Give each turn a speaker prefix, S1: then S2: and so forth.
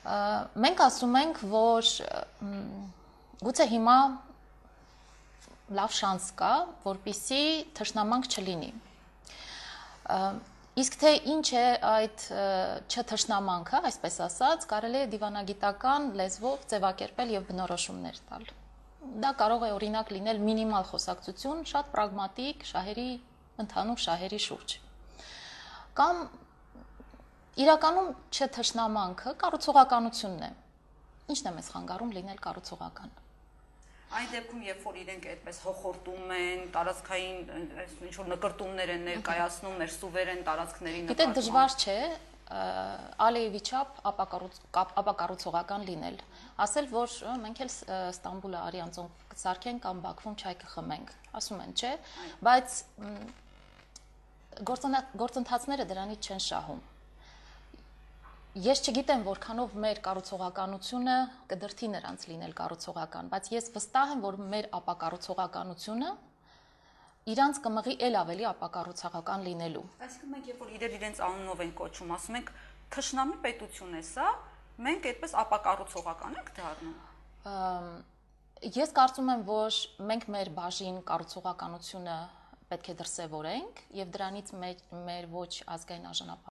S1: Մենք ասում ենք, որ գուցե հիմա լավ շանս կա, որպեսզի թշնամանք չլինի։ Իսկ թե ինչ է այդ չթշնամանքը, այսպես ասած, կարելի է դիվանագիտական լեզվով ձևակերպել եւ բնորոշումներ տալ։ Դա կարող է օրինակ լինել մինիմալ խոսակցություն, շատ պրագմատիկ շահերի, ընդհանուր շահերի շուրջ։ Կամ իրականում չթշնամանքը կառուցողականությունն է։ Ինչն է մեզ խանգարում լինել կառուցողական։
S2: Այն դեպքում, երբ որ իրենք այդպես հոխորտում են, տարածքային ինչ-որ նկրտումներ են ներկայացնում մեր սուվերեն տարածքների նկատմամբ։
S1: Գիտեք, դժվար չէ Ալիևի չափ ապակառուցողական լինել։ Ասել, որ մենք էլ Ստամբուլը արիանցոն կսարքենք կամ Բաքվում չայ կխմենք, ասում են, չէ, բայց գործընթացները դրանից չեն շահում։ Ես չգիտեմ, որքանով մեր կառուցողականությունը կդրթի նրանց լինել կառուցողական, բայց ես վստահ եմ, որ մեր ապակառուցողականությունը իրանց կմղի էլ ավելի ապակառուցողական լինելու։
S2: Այսինքն մենք երբ որ իրենց անունով են կոչում, ասում ենք թշնամի պետություն է սա, մենք այդպես ապակառուցողական ենք դառնում։
S1: Ես կարծում եմ, որ մենք մեր բաժին կառուցողականությունը պետք է դրսևորենք եւ դրանից մեր ոչ ազգային արժանապատվությունը